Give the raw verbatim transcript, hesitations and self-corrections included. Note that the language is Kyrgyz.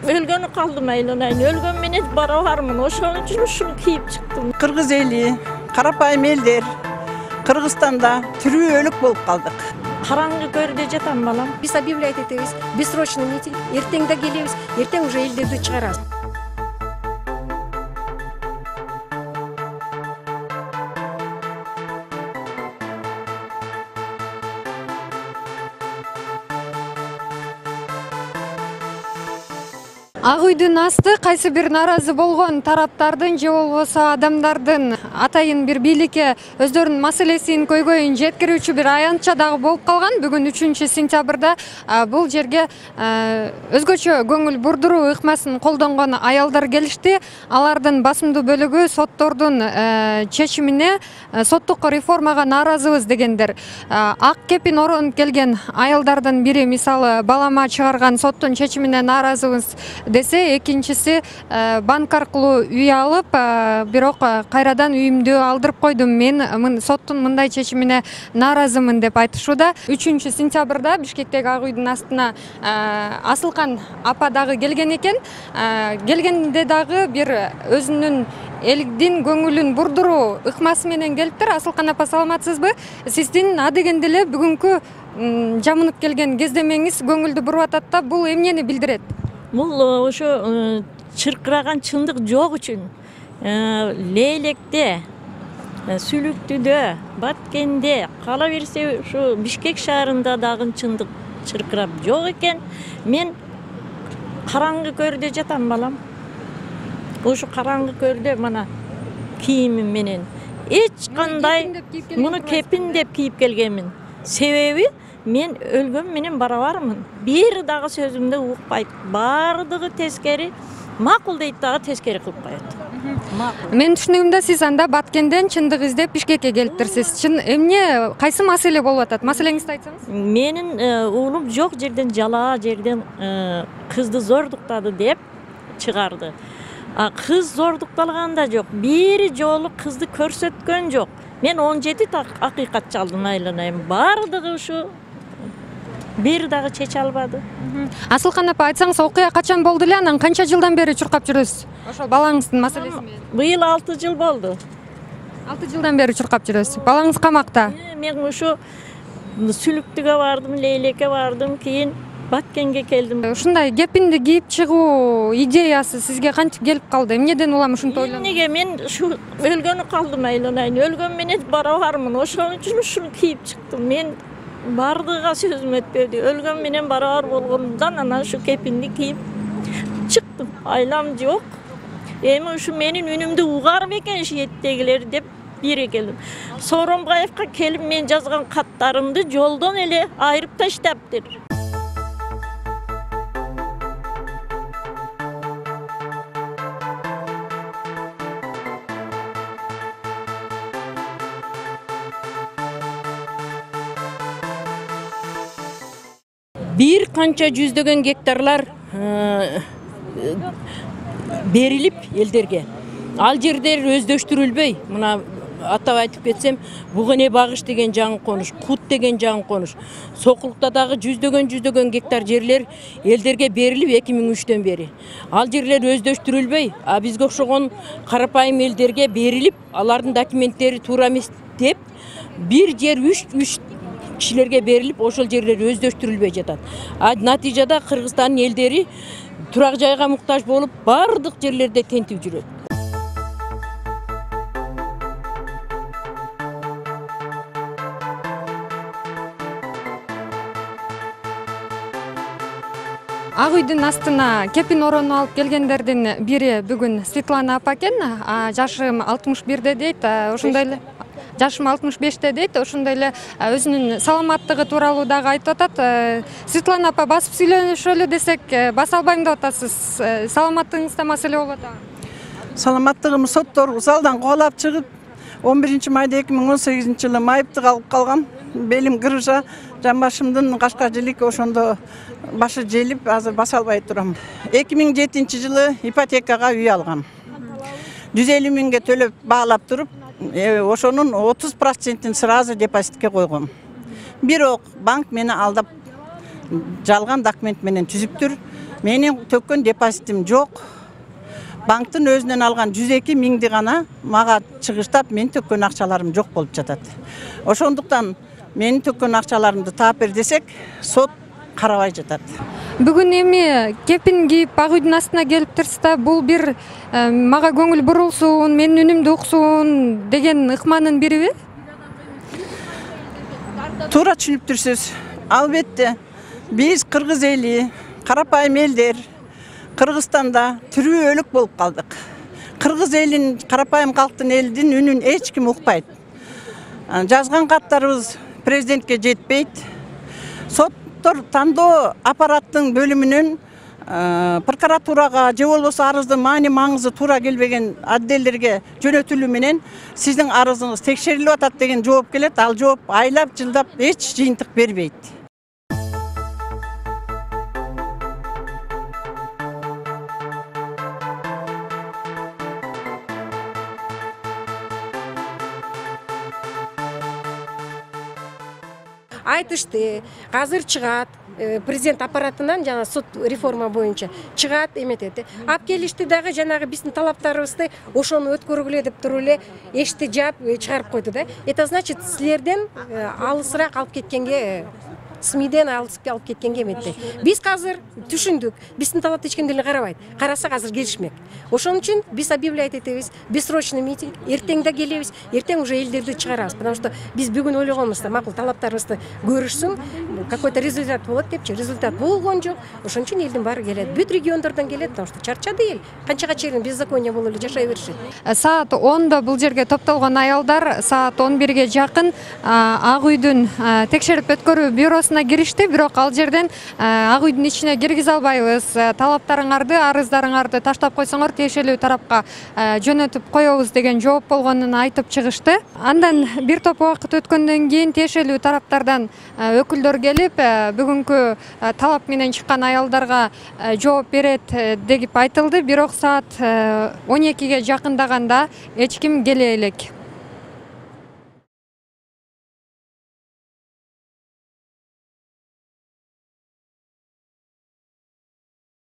өлгөнү калдым айланайын. Өлгөн менен барабармын. Ошон үчүн ушуну кийип чыктым. Кыргыз эли, карапайым элдер Кыргызстанда тирүү өлүк болуп калдык. Караңгы көрдө жатам балам. Биз объявлять этебиз. Бессрочный митинг. Эртең да келебиз. Эртең уже элдерди чыгарабыз. Ак үйдүн асты кайсы бир нааразы болгон тараптардын же болбосо адамдардын атайын бир бийликке өздөрүнүн маселесин көйгөйүн жеткирүүчү бир аянтча дагы болуп калган. Бүгүн үчүнчү сентябрда бул жерге өзгөчө көңүл бурдуруу ыкмасын колдонгон аялдар келишти. Алардын басымдуу бөлүгү соттордун чечимине, соттук реформага нааразыбыз дегендер. Ак кепин оронуп келген аялдардын бири мисалы балама чыгарган соттун чечимине нааразыбыз десе, экинчиси банк аркылуу үй алып, бирок кайрадан үйүмдү алдырып койдум. Мен соттун мындай чечимине нааразымын деп айтышууда. үчүнчү сентябрда Бишкектеги Ак үйдүн астына Асылкан апа дагы келген экен. Келгенде дагы бир өзүнүн элдин көңүлүн бурдуруу ыкмасы менен келиптир. Асылкан апа, саламатсызбы? Сиздин адегенде эле бүгүнкү жамынып келген кездемеңиз көңүлдү буруп атат да, бул эмнени билдирет? Бул ошо чыркыраган чындык жок үчүн Лейлекте, Сүлүктүдө, Баткенде, кала берсе ушу Бишкек шаарында дагы чындык чыркырап жок экен. Мен караңгы көрдө жатам балам. Ушу караңгы көрдө мына кийимим менен эч кандай муну кепин деп кийип келгенмин. Себеби мен өлгөн менен барабармын. Бир дагы сөзүмдү укпайт. Бардыгы тескери, макул дейт дагы тескери кылып коет. Мен түшүнүгүмдө сиз анда Баткенден чындык издеп Бишкекке келиптирсиз. Чын эмне, кайсы маселе болуп атат? Маселеңизди айтсаңыз. Менин уулум жок жерден, жалаа жерден кызды зордуктады деп чыгарды. А кыз зордукталган да жок. Бир жолу кызды көрсөткөн жок. Мен он жети акыйкат чалдым айланайым. Бардыгы ушу бир дагы чече албады. Асылкан апа, айтсаңыз, окуя качан болду эле, анан канча жылдан бери чуркап жүрөсүз? Ошол балаңыздын маселеси менен. Быйыл алты жыл болду. алты жылдан бери чуркап жүрөсүз. Балаңыз камакта? Мен ушу Сүлүктүгө бардым, Лейлекке бардым, кийин Баткенге келдим. Ушундай кепинди кийип чыгуу идеясы сизге кантип келип калды? Эмнеден улам ушинтип ойлондуңуз? Эмнеге мен ушу өлгөнү калдым айланайын. Өлгөн менен барабармын. Ошон үчүн ушуну кийип чыктым. Мен бардыга сөзүм өтпөдү. Өлгөн менен барабар болгондон анан ушу кепинди кийип чыктым. Айлам жок. Эми ушу менин үнүмдү угар бекен шиеттегилер деп бири келдим. Сооронбаевка келип мен жазган каттарымды жолдон эле айырып таштаптыр. Бир канча жүздөгөн гектарлар берилип элдерге. Ал жерлер өздөштүрүлбөй. Мына атап айтып кетсем, Бугене багыш деген жаңы конуш, Кут деген жаңы конуш. Сокулукта дагы жүздөгөн жүздөгөн гектар жерлер элдерге берилип эки миң үчтөн бери. Ал жерлер өздөштүрүлбөй, а бизге окшогон карапайым элдерге берилип, алардын документтери туура эмес деп бир жер үч үч кишилерге берилип, ошол жерлер өздөштүрүлбөй жатат. А натыйжада Кыргызстандын элдери турак жайга муктаж болуп, бардык жерлерде тентип жүрөт. Ак үйдүн астына кепин оронуп алып келгендердин бири бүгүн Светлана апа экен. Жашым алтымыш бирде дейт, ошондой эле жашым алтымыш беште дейт, ошондой эле өзүнүн саламаттыгы тууралуу дагы айтып атат. Светлана апа, басып сүйлөнүшөлү десек, баса албайм деп атасыз. Саламаттыгыңызда маселе болуп атабы? Саламаттыгым соттор залдан кубалап чыгып, он биринчи майда эки миң он сегизинчи жылы майыптык алып калгам. Белим кырыжа, жамбашымдын кашка жилик ошондо башы желип, азыр баса албай турам. эки миң жетинчи жылы ипотекага үй алгам. жүз элүү миңге төлөп баалап туруп, ошонун отуз процентин сразу депозитке койгом. Бирок банк мени алдап жалган документ менен түзүптүр. Менин төккөн депозитим жок. Банктын өзүнөн алган жүз эки миңди гана мага чыгыштап, мен төккөн акчаларым жок болуп жатат. Ошондуктан менин төккөн акчаларымды таап бер десек, сот карабай жатат. Бүгүн эми кепин кийип ак үйдүн астына келип турсуз да, бул бир мага көңүл бурулсун, менин үнүмдү уксун деген ыкманын бириби? Туура түшүнүптүрсүз. Албетте, биз кыргыз эли, карапайым элдер Кыргызстанда тирүү өлүк болуп калдык. Кыргыз элин, карапайым калктын элдин үнүн эч ким укпайт. Жазган каттарыбыз президентке жетпейт. Соттор тандоо аппараттын бөлүмүнүн прокуратурага же болбосо арыздын маани маңызы туура келбеген отделдерге жөнөтүлүү менен сиздин арызыңыз текшерилип атат деген жооп келет. Ал жооп айлап, жылдап эч жыйынтык бербейт. Айтышты, азыр чыгат, президент аппаратынан жана сот реформа боюнча чыгат эметет. Ап келишти дагы жанагы биздин талаптарыбызды ошону өткөргүлө деп туруп эле эшти жаап чыгарып койду да. Это значит, силерден алысыраак алып кеткенге СМИден алысып алып кеткенге эметти. Биз азыр түшүндүк, биздин талапты эч ким деле карабайт. Карасак азыр келишмек. Ошон үчүн биз объявлять этебиз, бессрочный митинг, эртең да келебиз, эртең уже элдерди чыгарабыз. Потому что биз бүгүн ойлогонбуз, макул талаптарыбызды көрүшсүн, какой-то результат болот депчи. Результат болгон жок. Ошон үчүн элдин баары келет. Бүт региондордон келет, потому что чарчады эл. Канчага чейин беззаконие болуп эле жашай беришет. Саат ондо бул жерге топтолгон аялдар саат он бирге жакын Ак үйдүн текшерип өткөрүү бюросуна киришти, бирок ал жерден Ак үйдүн ичине киргизе албайбыз. Талаптарыңарды, арыздарыңарды таштап койсоңор тиешелүү тарапка жөнөтүп коебуз деген жооп болгонун айтып чыгышты. Андан бир топ убакыт өткөндөн кийин тиешелүү тараптардан өкүлдөр келип, бүгүнкү талап менен чыккан аялдарга жооп берет деп айтылды. Бирок саат он экиге жакындаганда эч ким келе элек.